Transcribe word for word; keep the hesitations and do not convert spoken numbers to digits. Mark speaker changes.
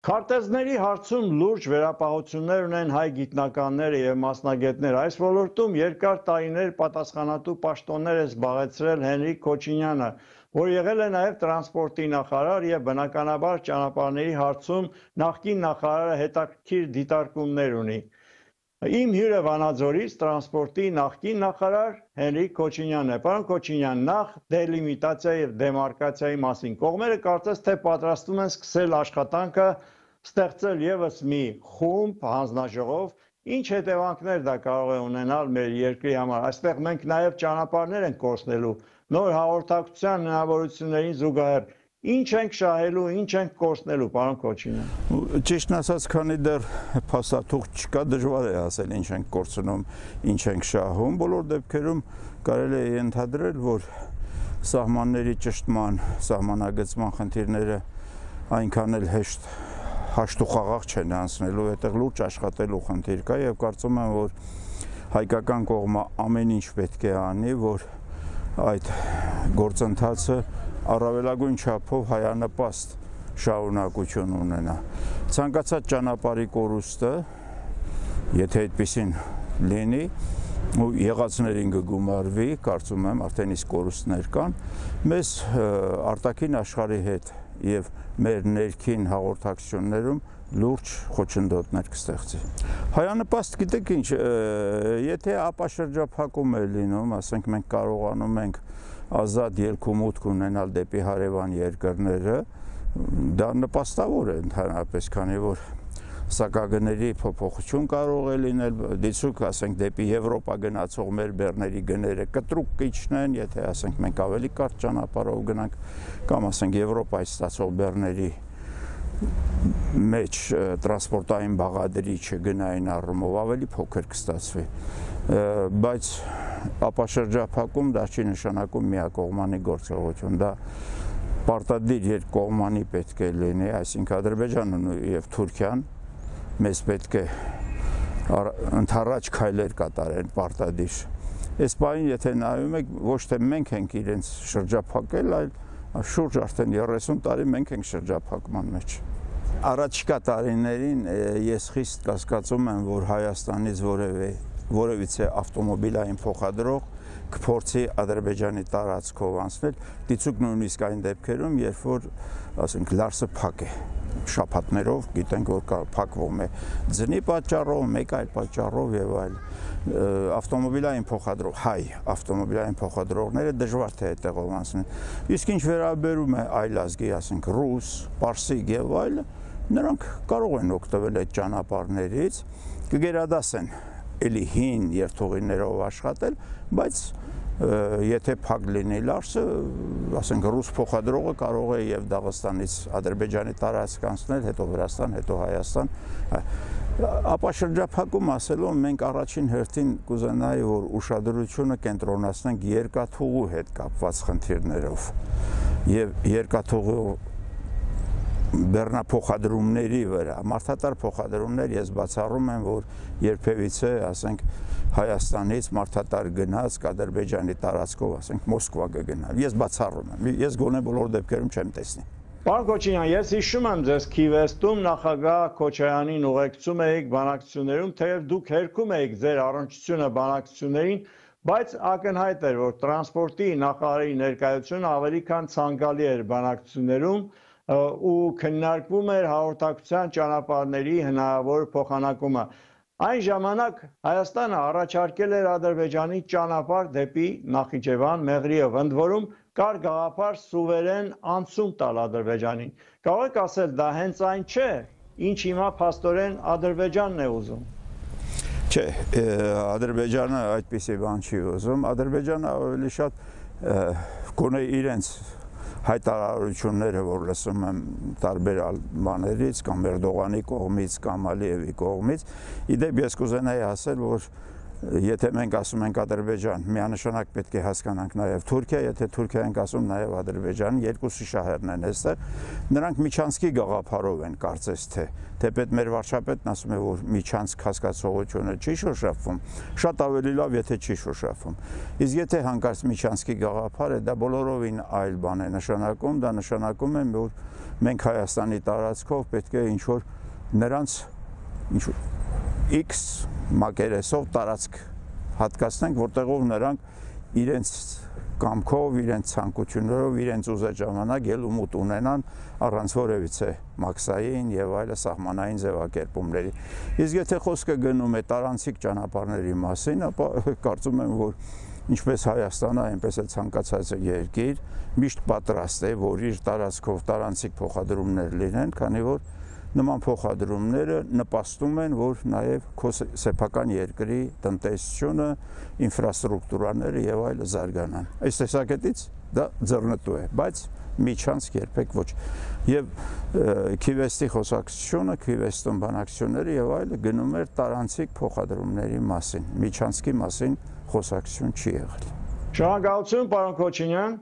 Speaker 1: Քարտեզների հարցում լուրջ վերապահություններ ունեն հայ գիտնականները և մասնագետները։ Այս ոլորտում երկար տարիներ պատասխանատու պաշտոններ է զբաղեցրել Հենրիկ Քոչինյանը, որ եղել է նաև տրանսպորտի նախարար և բնականաբար ճանապարհների հարցում նախկին նախարարը հետաքրքիր դիտարկումներ ունի։ Իմ հյուրը Վանաձորից տրանսպորտի նախկին նախարար Հենրիկ Քոչինյանն է։ Պարոն Քոչինյան, նախ դելիմիտացիայի և դեմարկացիայի մասին կողմերը կարծես թե պատրաստվում են սկսել աշխատանքը ստեղծել ևս մի խումբ հանձնաժողով, ինչ հետևանքներ դա կարող է ունենալ մեր երկրի համար։ Այստեղ մենք նաև ճանապարհներ ենք կորցնելու, նոր հաղորդակցության հնարավորություններին զուգահեռ։ Ինչ ենք շահելու, ինչ ենք կորցնելու, պարոն Քոչինյան։
Speaker 2: Ճիշտն ասած, քանի դեռ փաստաթուղթ չկա, դժվար է ասել ինչ ենք կորցնում, ինչ ենք շահում։ Բոլոր դեպքերում կարելի է ենթադրել, որ սահմանների ճշտման, սահմանագծման խնդիրները այնքան էլ հեշտ հաշտուխաղաղ չեն անցնելու, այդտեղ լուրջ աշխատելու խնդիր կա եւ կարծում եմ, որ հայկական կողմը ամեն ինչ պետք է անի, որ այդ գործընթացը առավելագույն չափով հայանպաստ շարունակություն ունենա։ Ցանկացած ճանապարհի կորուստը, եթե այդպեսին լինի, ու եղածներին կգումարվի, կարծում եմ, արդեն իսկ կորուստներ կան, մեզ արտաքին աշխարհի հետ եւ մեր ներքին հաղորդակցություններում լուրջ խոչընդոտներ կստեղծի։ Հայանպաստ գիտեք ինչ, եթե ապաշրջափակում է լինում, ասենք մենք կարողանում ենք ազատ ելք ու մուտք ունենալ դեպի հարևան երկրները, դա նպաստավոր է ընդհանրապես, քանի որ սակագների փոփոխություն կարող է լինել, դիցուք ասենք դեպի Եվրոպա գնացող մեր բեռների գները կտրուկ կիջնեն, եթե ասենք մենք ավելի կարճ ճանապարհով գնանք, կամ ասենք Եվրոպայից ստացող բեռների մեջ տրանսպորտային բաղադրիչը գնային առումով ավելի փոքր կստացվի, բայց ապաշրջափակում դա չի նշանակում միակողմանի գործողություն, դա պարտադիր երկկողմանի պետք է լինի, այսինքն Ադրբեջանն եւ Թուրքիան մեզ պետք է ընդառաջ քայլեր կատարեն պարտադիր։ Այս բանին եթե նայում եք, ոչ թե մենք ենք իրենց շրջափակել, այլ շուրջ արդեն երեսուն տարի մենք ենք շրջափակման մեջ։ Առաջիկա տարիներին ես խիստ կասկածում եմ, որ Հայաստանից որևէ որևիցե ավտոմոբիլային փոխադրող կփորձի Ադրբեջանի տարածքով անցնել, դիցուք նույնիսկ այն դեպքերում, երբ որ ասենք լարսը փակ է, շաբաթներով գիտենք, որ փակվում է ձնի պատճառով, մեկ այլ պատճառով եւ այլ։ Ավտոմոբիլային փոխադրող, հայ ավտոմոբիլային փոխադրողները դժվար թե այդտեղով անցնեն։ Իսկ ինչ վերաբերում է այլ ազգի, ասենք ռուս, պարսիկ եւ այլը, նրանք կարող են օգտվել այդ ճանապարհներից, կգերադասեն էլի հին երթուղիներով աշխատել, բայց եթե փակ լինի լարսը, ասենք ռուս փոխադրողը կարող է եւ Դաղստանից Ադրբեջանի տարածք անցնել, հետո Վրաստան, հետո Հայաստան։ Ապաշրջափակում ասելով մենք առաջին հերթին կուզենայի, որ ուշադրությունը կենտրոնացնենք երկաթուղու հետ կապված խնդիրներով եւ երկաթուղու բեռնափոխադրումների վրա, մարդատար փոխադրումներ ես բացառում եմ, որ երբևիցե, ասենք, Հայաստանից մարդատար գնաց Ադրբեջանի տարածքով, ասենք, Մոսկվա կգնա։ Ես բացառում եմ, ես գոնե բոլոր դեպքերում չեմ տեսնի։
Speaker 1: Պարոն Քոչինյան, ես հիշում եմ ձեզ Քիվեստում նախագահ Քոչարյանին ուղեկցում էիք բանակցություններում, թեև դուք հերքում էիք ձեր առնչությունը բանակցություններին, բայց ակնհայտ էր, որ տրանսպորտի նախարարի ներկայությունը ավելի քան ցանկալի էր բանակցություններում ու քննարկվում էր հաղորդակցության ճանապարհների հնարավոր փոխանակումը։ Այն ժամանակ Հայաստանը առաջարկել էր Ադրբեջանի ճանապարհ դեպի Նախիջևան, Մեղրիև, ընդ որում կար գաղափար սուվերեն անցում տալ Ադրբեջանին։ Կարող եք ասել, դա հենց այն չէ, ինչ հիմա փաստորեն Ադրբեջանն է ուզում։
Speaker 2: Չէ, Ադրբեջանը այդպիսի բան չի ուզում, Ադրբեջանը ավելի շատ գոնե իրենց հայտարարությունները, որ լսում եմ տարբեր բաներից, կամ Էրդողանի կողմից, կամ Ալիևի կողմից, իդեպ ես կուզենայի ասել, որ Եթե մենք ասում ենք Ադրբեջան, միանշանակ պետք է հասկանանք նաև Թուրքիա, եթե Թուրքիա ենք ասում նաև Ադրբեջան, երկուսի շահերն են այստեղ, նրանք միջանցքի գաղափարով են կարծես թե, թեպետ մեր վարչապետն ասում է, որ միջանցք հասկացողությունը չի շոշափվում, շատ ավելի լավ, եթե չի շոշափվում։ Իսկ եթե հանկարծ միջանցքի գաղափար է, դա բոլորովին այլ բան է նշանակում, դա նշանակում է, որ մենք Հայաստանի տարածքով պետք է ինչ-որ նրանց ինչ-որ X մակերեսով տարածք հատկացնենք, որտեղով նրանք իրենց կամքով, իրենց ցանկություններով, իրենց ուզած ժամանակ ելումուտ ունենան առանց որևիցե մաքսային եւ այլ սահմանային ձևակերպումների։ Իսկ եթե խոսքը գնում է տարանցիկ ճանապարհների մասին, ապա կարծում եմ, որ ինչպես Հայաստանը, այնպես էլ ցանկացած երկիր միշտ պատրաստ է, որ իր տարածքով տարանցիկ փոխադրումներ լինեն, քանի որ նման փոխադրումները նպաստում են, որ նաև քո սեփական երկրի տնտեսությունը, ինֆրաստրուկտուրաները եւ այլը զարգանան։ Այս տեսակետից դա ձեռնտու է, բայց միջանցք երբեք ոչ։ Եվ Քիվեստի խոսակցությունը, Քիվեստում բանակցությունները եւ այլը գնում էր տարանցիկ փոխադրումների մասին, միջանցքի մասին խոսակցություն չի եղել։
Speaker 1: Շնորհակալություն, պարոն Քոչինյան։